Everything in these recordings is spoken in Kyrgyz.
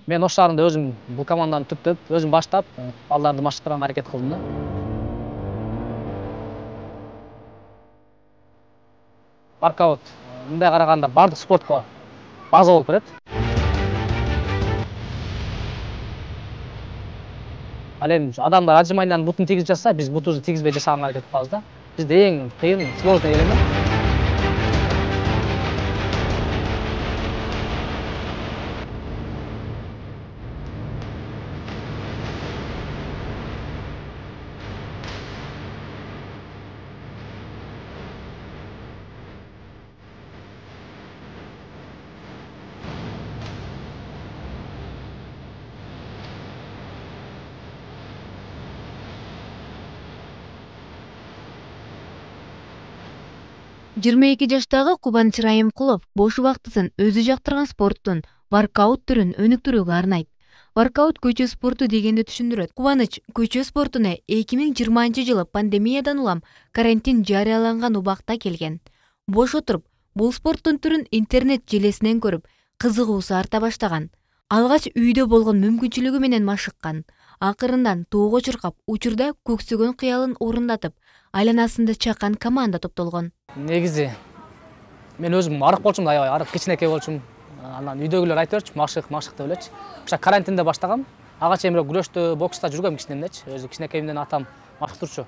Мен Ош шаарында өзүм бул команданы түптөп, өзүм баштап, балдарды машыктырганга аракет кылдым да. Воркаут мындай караганда бардык спортко база болуп берет. Ал эми адамдар отжиманиянын бутун тийгизип жатса, биз бутубузду тийгизбей жасаганга аракет кылабыз да. Бизде эң кыйын сложный элемент Жыйырма эки жаштагы Кубаныч Райымкулов бош убактысын өзү жактырган спорттун воркаут түрүн өнүктүрүүгө арнайт. Воркаут көчө спорту дегенди түшүндүрөт. Кубаныч көчө спортуна 2020-жылы пандемиядан улам карантин жарыяланган убакта келген. Бош отуруп, бул спорттун түрүн интернет желесинен көрүп, кызыгуусу арта баштаган. Алгач үйдө болгон мүмкүнчүлүгү менен машыккан. Акырындан тоого чуркап, учурда көксөгөн кыялын орундатып, айланасында чакан команда топтолгон. негизи мен өзүм арык болчумун да, аябай арык кичинекей болчумун. Анан үйдөгүлөр айтып берчү, машык деп элечи. Ошо карантинде баштагам. Ага чейин күрөштө, бокста жүргөм кичинемдечи. Өзү кичинекейимден атам машыктырчу.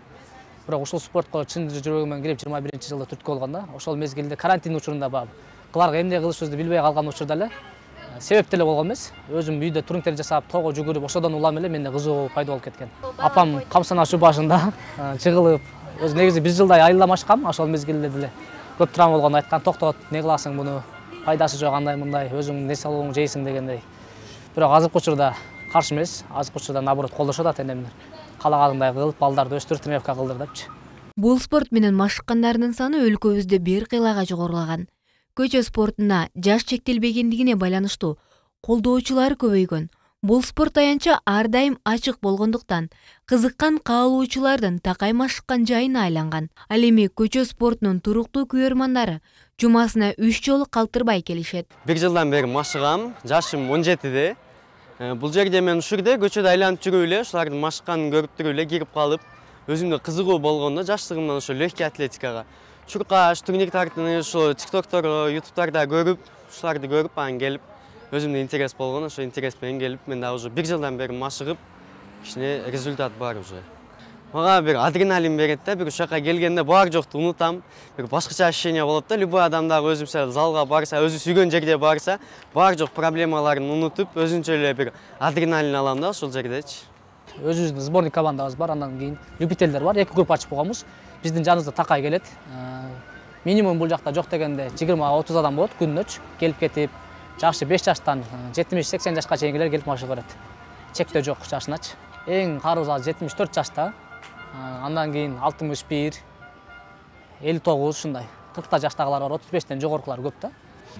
Бирок ушул спортко чын жүрөгүм менен кирип 21-жылда түрткү болгон да. Ошол мезгилде карантин учурунда кыларга эмне кылышыбызды билбей калган учурда эле себеп деле болгон эмес. Өзүм үйдө турниктер жасап, тоого жүгүрүп, ошодон улам эле менде кызыгуу пайда болуп кеткен. Апам камсана шу башында жыгылып, өзү негизи 1 жылдай айылда машыккам, ошол мезгилде деле көп травма болгонун айткан. Токтот, эмне кыласың муну? Пайдасы жок, андай мындай, өзүң нерсе алууң жейсиң дегендей. Бирок азыркы учурда каршы эмес, азыркы учурда наоборот колдошот ата-энемдер. Каалаганыңдай кылып, балдарды өстүр, тренировка кылдыр депчи. Бул спорт менен машыккандардын саны өлкөбүздө бир кыйлага жогорулаган. Көчө спортуна жаш чектелбегендигине байланыштуу колдоочулар көбөйгөн. Бул спорт аянча ар дайым ачык болгондуктан кызыккан каалоочулардын такай машыккан жайына айланган. Ал эми көчө спортунун туруктуу көрөрмандары жумасына 3 жолу калтырбай келишет. 1 жылдан бери машыгам, жашым 17де. Бул жерде мен ушурда көчөдө айланып жүрүп эле, ушулардын машыкканын көрүп туруп эле кирип калып, өзүмдө кызыгуу болгондо жаштыгымдан ошо легкий атлетикага чуркаш, турник тартууну ошо тиктоктор, ютубтарда көрүп, ушуларды көрүп анан келип өзүмдө интерес болгон, ошо интерес менен келип, мен да уже 1 жылдан бери машыгып, кичине результат бар уже. Мага бир адреналин берет да, бир ушака келгенде бар жокту унутам, бир башкача ощущение болот да. Любой адам дагы өзүнчө залга барса, өзү сүйгөн жерге барса, бар жок проблемаларын унутуп, өзүнчө эле бир адреналин алам да ошол жердечи. Өзүбүздүн сборный командабыз бар, андан кийин любительдер бар. 2 группа ачып койгонбуз. Биздин жаныбызда такай келет. Минимум бул жакта жок дегенде 20-30 адам болот күнүнөчү. Келип кетип, жашы 5 жаштан 70-80 жашка чейингилер келип машыгып берет. Чектөө жок жашыначы. Эң карыбыз азыр 74 жашта. Андан кийин 61, 59 ушундай. 40 жаштагылар бар, 35тен жогорукулар көп да.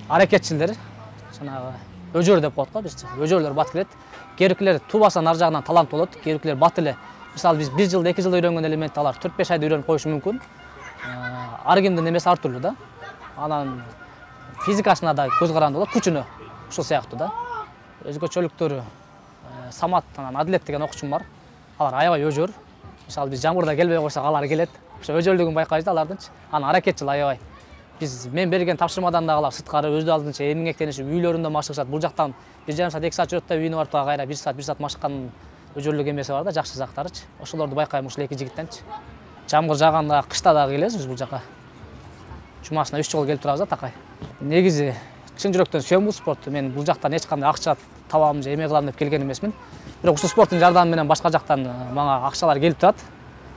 Аракетчилер, жанагы өжөр деп коет го биз. Өжөрлөр бат келет. Керикилер тубасанын ар жагынан талант болот. Керикилер бат эле. Мисалы биз 1 жылда 2 жылда үйрөнгөн элементти алар 4-5 айда үйрөнүп коюшу мүмкүн. Ар кимдин эмеси ар түрлүү да. Анан физикасына да көз каранды болот, күчүнө ушул сыяктуу да. Өзгөчөлүктөрү Самат, анан Адилет деген окуучум бар. Алар аябай өжөр. Мисалы биз жамгырда келбей койсок алар келет. Ошо өжөрлүгүн байкайбыз да алардынчы. Анан аракетчил аябай. Мен берген тапшырмадан дагы алар сырткары өз алдынча эмгектенишип үйлөрүндө машыгышат. Бул жактан 1,5 саат 2 саат жүрөт да үйүнө барып кайра 1 саат машыккан өжөрлүк эмеси бар да, жакшы жактарычы. Ошолорду байкайм ушул 2 жигиттенчи. Жамгыр жааганда, кышта дагы келесиз бул жака. Жумасына 3 жолу келип турабыз да такай. Негизи чын жүрөктөн сүйөм бул спорту. Мен бул жактан эч кандай акча табам же эме кылам деп келген эмесмин. Бирок ушул спорттун жардамы менен башка жактан мага акчалар келип турат.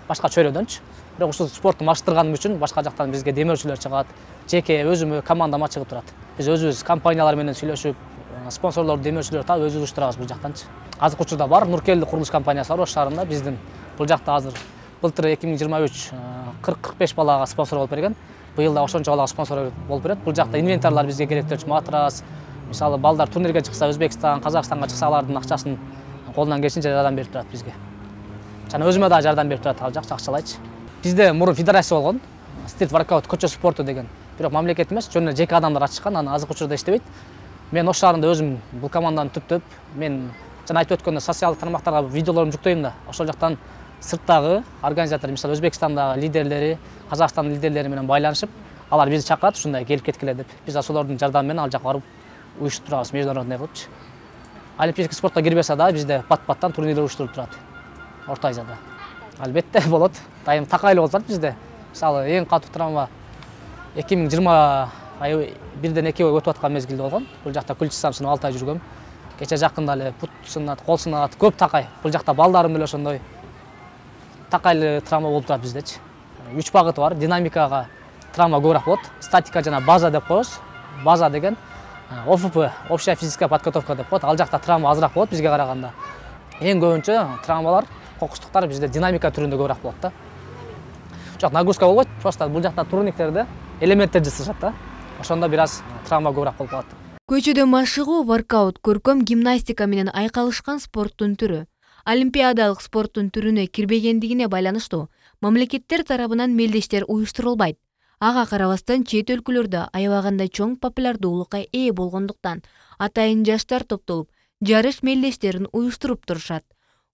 Башка чөйрөдөнчү. Бирок ушул спортту машыктырганым үчүн башка жактан бизге демөөрчүлөр чыгат. Жеке өзүмө командама чыгып турат. Биз өзүбүз компаниялар менен сүйлөшүп, спонсорлорду демөөрчүлөр таап өзүбүз уштурабыз бул жактанчы. Азыркы учурда бар Нуркелди курулуш компаниясы бар Ош шаарында. Биздин бул жакта азыр былтыр 2023 40-45 балага спонсор болуп берген. Быйыл да ошончо балага спонсор болуп берет. Бул жакта инвентарлар бизге керектелчү, матрас. Мисалы балдар турнирге чыкса, Өзбекстан, Казакстанга чыкса, алардын акчасын колунан келишинче жардам берип турат бизге. Жана өзүмө да жардам берип турат, ал жакчы акчалайчы. Бизде мурун федерация болгон, стрит воркаут көчө спорту деген. Бирок мамлекет эмес, жөн эле жеке адамдар ачышкан, анан азыркы учурда иштебейт. Мен Ош шаарында өзүм бул команданы түптөп, мен жана айтып өткөндөй социалдык тармактарга видеолорумду жүктөйм да. Ошол жактан сырттагы организатор, мисалы Өзбекстандагы лидерлери, Казакстандын лидерлери менен байланышып, алар бизди чакырат, ушундай келип кеткиле деп. Биз ошолордун жардамы менен ал жака барып уюштурабыз, международный кылыпчы. Олимпийский спортко кирбесе да бизде пат-паттан турнирлер уюштуруп турат. Орто Азияда. Албетте болот. Дайым такайлуу болуп атат бизде. Мисалы эң катуу травма 2021-ден 2 ой өтүп аткан мезгилде болгон. Бул жакта ключицам сынып 6 ай жүргөм. Кече жакында эле бут сынат, кол сынат, көп такай. Бул жакта балдарым деле ошондой такайлы травма болуп турат биздечи. 3 багыты бар. Динамикага травма көбүрөөк болот. Статика жана база деп коебуз. База деген ОФП, общая физическая подготовка деп коет. Ал жакта травма азыраак болот бизге караганда. Эң көбүнчө травмалар, кокустуктар бизде динамика түрүндө көбүрөөк болот да. Жок, нагрузка болбойт. Просто бул жакта турниктерде элементтер жасашат да. Ошондо бир аз травма көбүрөөк болуп калат. Көчөдө машыгуу, воркаут, көркөм гимнастика менен айкалышкан спорттун түрү. Олимпиадалык спорттун түрүнө кирбегендигине байланыштуу мамлекеттер тарабынан мелдештер уюштурулбайт. Ага карабастан чет өлкөлөрдө аябаганда чоң популярдуулукка ээ болгондуктан атайын жаштар топтолуп, жарыш мелдештерин уюштуруп турушат.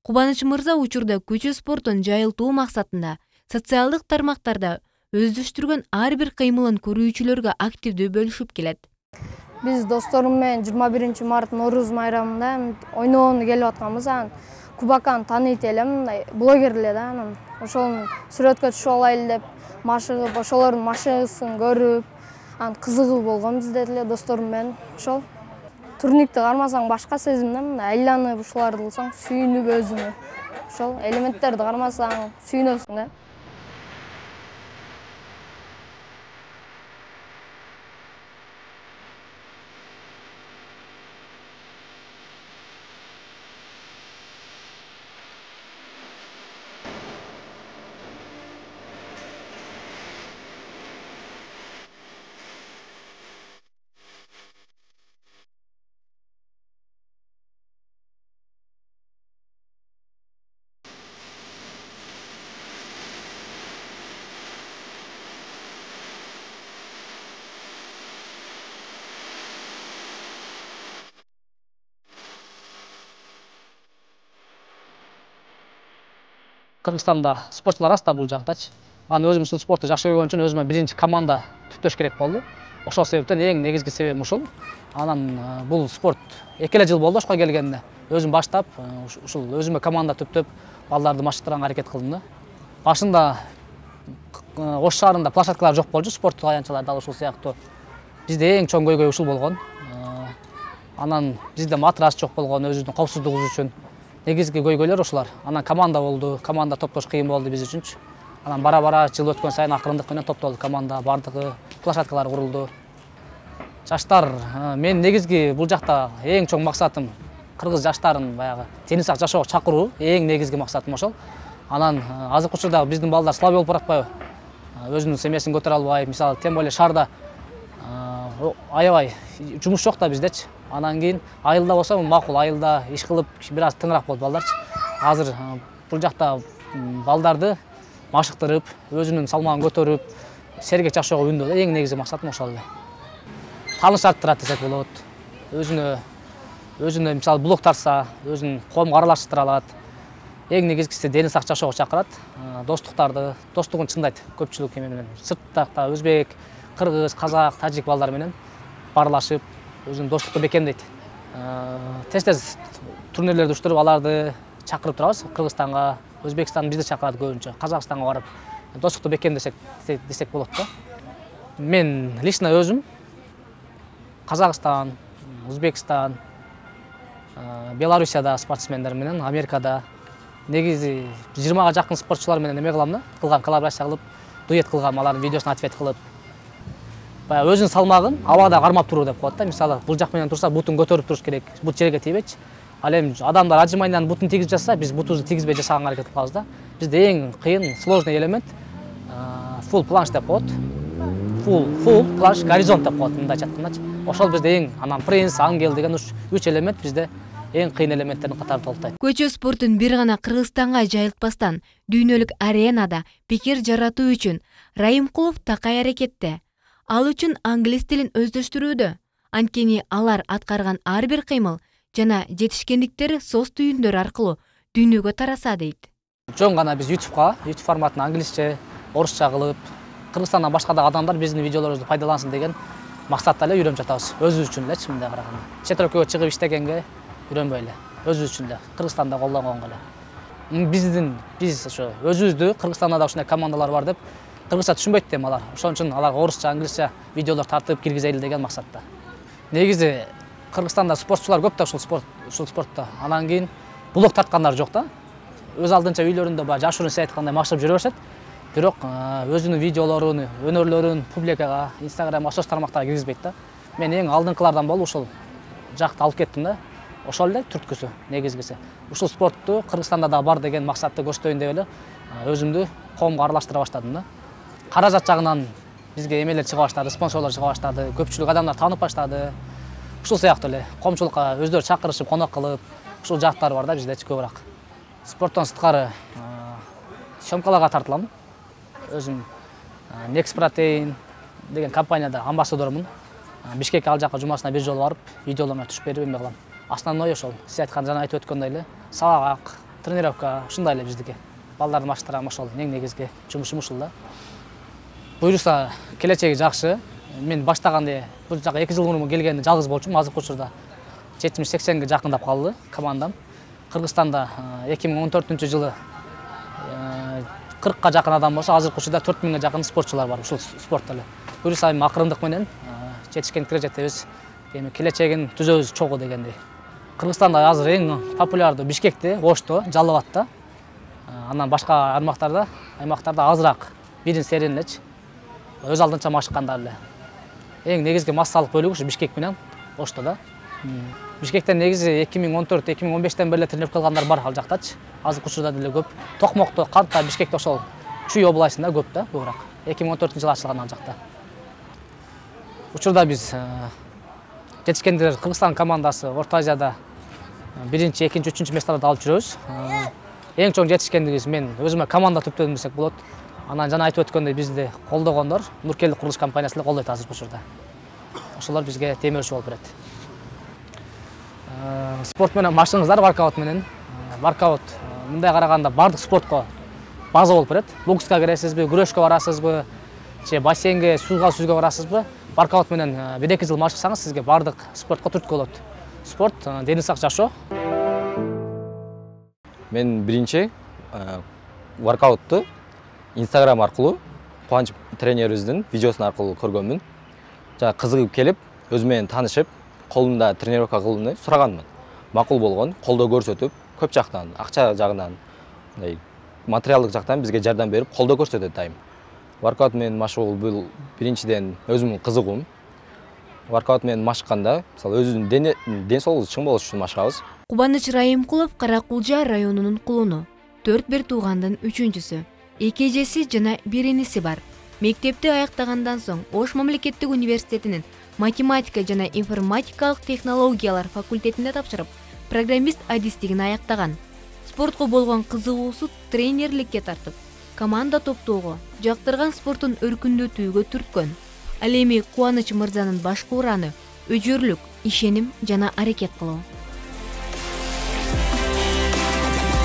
Кубаныч мырза учурда көчө спортун жайылтуу максатында социалдык тармактарда өздөштүргөн ар бир кыймылын көрүүчүлөргө активдүү бөлүшүп келет. Биз досторум менен 21 март Нооруз майрамында ойногону келип атканбыз. Кубаканы тааныйт элем, блогер эле да, анан ошонун сүрөткө түшүп алайлы деп машыгып, ошолордун машыгысын көрүп, анан кызыгуу болгон бизде деле досторум менен. Ошол турникти кармасаң башка сезим да, мындай айланып ушуларды кылсаң сүйүнүп өзүңө. Ошол элементтерди кармасаң сүйүнөсүң да. Кыргызстанда спортчулар аз да бул жактачы. Анан өзүм ушул спорту жакшы көргөн үчүн өзүмө биринчи команда түптөш керек болду. Ошол себептен эң негизги себебим ушул. Анан бул спорт 2 жыл болду Ошко келгенде. Өзүм баштап, ушул өзүмө команда түптөп, балдарды машыктырганга аракет кылдым да. Башында Ош шаарында площадкалар жок болчу, спорттук аянтчалар дал ушул сыяктуу. Бизде эң чоң көйгөй ушул болгон. Анан бизде матрас жок болгон, өзүбүздүн коопсуздугубуз үчүн. Негизги көйгөйлөр ушулар. Анан команда болду, команда топтош кыйын болду биз үчүнчү. Анан бара-бара жыл өткөн сайын акырындык менен топтолду команда, бардыгы площадкалар курулду. Жаштар, мен негизги бул жакта эң чоң максатым кыргыз жаштарын баягы тени сак жашоого чакыруу, эң негизги максатым ошол. Анан азыркы учурда биздин балдар слабый болуп баратпайбы? Өзүнүн семьясын көтөрө албай, мисалы, тем более шаарда аябай жумуш жок да биздечи. Анан кийин айылда болсо макул, айылда иш кылып бир аз тыңыраак болот балдарчы. Азыр бул жакта балдарды машыктырып, өзүнүн салмагын көтөрүп, сергек жашоого үндөө эң негизги максатым ошол эле. Тааныш арттырат десек болот. Өзүнө мисалы блог тартса, өзүнүн коомго аралаштыра алат. Эң негизгиси дени сак жашоого чакырат. Достугун чындайт көпчүлүк менен. Сырттакта өзбек, кыргыз, казак, тажик балдар менен баарлашып, өзүнүн достукту бекемдейт. Тез-тез турнирлерди уюштуруп, аларды чакырып турабыз. Кыргызстанга, Өзбекстан бизди чакырат көбүнчө. Казакстанга барып достукту бекемдесек болот да. Мен лично өзүм Казакстан, Өзбекстан, Белоруссияда спортсмендер менен, Америкада негизи 20га жакын спортчулар менен эме кылам да, коллаборация кылып, дуэт кылгам, алардын видеосуна ответ кылып. Баягы өзүнүн салмагын абада кармап туруу деп коет да. Мисалы, бул жак менен турса, бутун көтөрүп туруш керек, бут жерге тийбейчи. Ал эми адамдар ажымайдан бутун тийгизип жатса, биз бутубузду тийгизбей жасаганга аракет кылабыз да. Бизде эң кыйын, сложный элемент full планш деп коет. Full планш, горизонт деп коет, мындай айткандачы. Ошол бизде эң, анан принц, ангел деген 3 элемент бизде эң кыйын элементтердин катарында толуктайт. Көчө спортун бир гана Кыргызстанга жайылтпастан, дүйнөлүк аренада пикир жаратуу үчүн Райымкулов такай аракетте. Ал үчүн англис тилин өздөштүрүүдө. Анткени алар аткарган ар бир кыймыл жана жетишкендиктери соц түйүндөр аркылуу дүйнөгө тараса дейт. Жөн гана биз YouTube форматын англисче, орусча кылып, Кыргызстандан башка да адамдар биздин видеолорубузду пайдалансын деген максатта эле үйрөнүп жатабыз. Өзүбүз үчүн элечи мындай караганда. Чет өлкөгө чыгып иштегенге үйрөнбөй эле. Өзүбүз үчүн эле, Кыргызстанда колдонгонго эле. Биз ошо өзүбүздү Кыргызстанда да ушундай командалар бар деп кыргызча түшүнбөйт дейм алар. Ошон үчүн аларга орусча, англисче видеолор тартып киргизели деген максатта. Негизи Кыргызстанда спортчулар көп да ушул спортто. Анан кийин блог тарткандар жок да. Өз алдынча үйлөрүндө баягы жашыруун сиз айткандай максат жүрө беришет. Бирок өзүнүн видеолорун, өнөрлөрүн публикага, Instagram, соц тармактарга киргизбейт да. Мен эң алдыңкылардан болуп ушул жакты алып кеттим да. Ошол эле түрткүсү, негизгиси. Ушул спортту Кыргызстанда да бар деген максатты көрсөтөйүн деп эле өзүмдү коомго аралаштыра баштадым да. Каражат жагынан бизге эмелер чыга баштады, спонсорлор чыга баштады, көпчүлүк адамдар таанып баштады. Ушул сыяктуу эле коомчулукка өздөрү чакырышып, конок кылып, ушул жактар бар да биздечи көбүрөөк. Спорттон сырткары съемкаларга тартылам. Өзүм Next Protein деген компанияда амбассадормун. Бишкекке ал жака жумасына бир жолу барып, видеолоруна түшүп берип эме кылам. Основной ошол. Сиз айткан жана айтып өткөндөй эле сабак, тренировка ушундай эле биздики. Балдарды маштырам ошол эң негизги жумушум ушул да. Буюрса келечеги жакшы. Мен баштаганда бул жака 2 жыл мурун келгенде жалгыз болчумун. Азыркы учурда 70-80ге жакындап калды командам. Кыргызстанда 2014-жылы 40ка жакын адам болсо, азыркы учурда 4000ге жакын спортчулар бар ушул спортто эле. Буюрса акырындык менен жетишкендикке жетебиз. Эми келечегин түзөбүз чогуу дегендей. Кыргызстанда азыр эң популярдуу Бишкекте, Ошто, Жалал Абадта. Анан башка аймактарда азыраак, бирин серин элечи. Өз алдынча машыккандар эле. Эң негизги массалык бөлүгү ушу Бишкек менен Оштода. Бишкектен негизи 2014-2015тен бери тренировка кылгандар бар ал жактачы. Азыркы учурда деле көп. Токмокто, Кантта, Бишкекте ошол Чүй областында көп да, көбүрөөк. 2014-жылы ачылган ал жакта. Учурда биз жетишкендер Кыргызстан командасы Орто Азияда 1-2, 3 месталарды алып жүрөбүз. Эң чоң жетишкендигибиз мен өзүмө команда түптөдүм десек болот. Анан жана айтып өткөндөй бизди колдогондор Нуркелди курулуш компаниясы эле колдойт азыркы учурда. Ошолор бизге темирчи болуп берет. Спорт менен машыгыңыздар, воркаут менен. Воркаут мындай караганда бардык спортко база болуп берет. Бокска киресизби, күрөшкө барасызбы, же бассейнге, сууга сүзгө барасызбы? Воркаут менен 1-2 жыл машыксаңыз сизге бардык спортко түрткү болот. Спорт дени сак жашоо. Мен биринчи воркаутту Instagram аркылуу Кубаныч тренерибиздин видеосун аркылуу көргөнмүн. Жана кызыгып келип, өзү менен таанышып, колумда тренировка кылууну сураганмын. Макул болгон, колдоо көрсөтүп, көп жактан, акча жагынан, мындай материалдык жактан бизге жардам берип, колдоо көрсөтөт дайым. Воркаут менен машыгуу бул биринчиден өзүмдүн кызыгуум. Воркаут менен машыкканда, мисалы өзүнүн ден соолугубуз чың болуш үчүн машыгабыз. Кубаныч Райымкулов Каракулжа районунун кулуну. 4 туугандын 3-үчүсү. 2 эжеси жана 1 иниси бар. Мектепти аяктагандан соң Ош мамлекеттик университетинин математика жана информатикалык технологиялар факультетинде тапшырып, программист адистигин аяктаган. Спортко болгон кызыгуусу тренерликке тартып, команда топтоого, жактырган спортун өркүндөтүүгө түрткөн. Ал эми Кубаныч мырзанын башкы ураны өжөрлүк, ишеним жана аракет кылуу.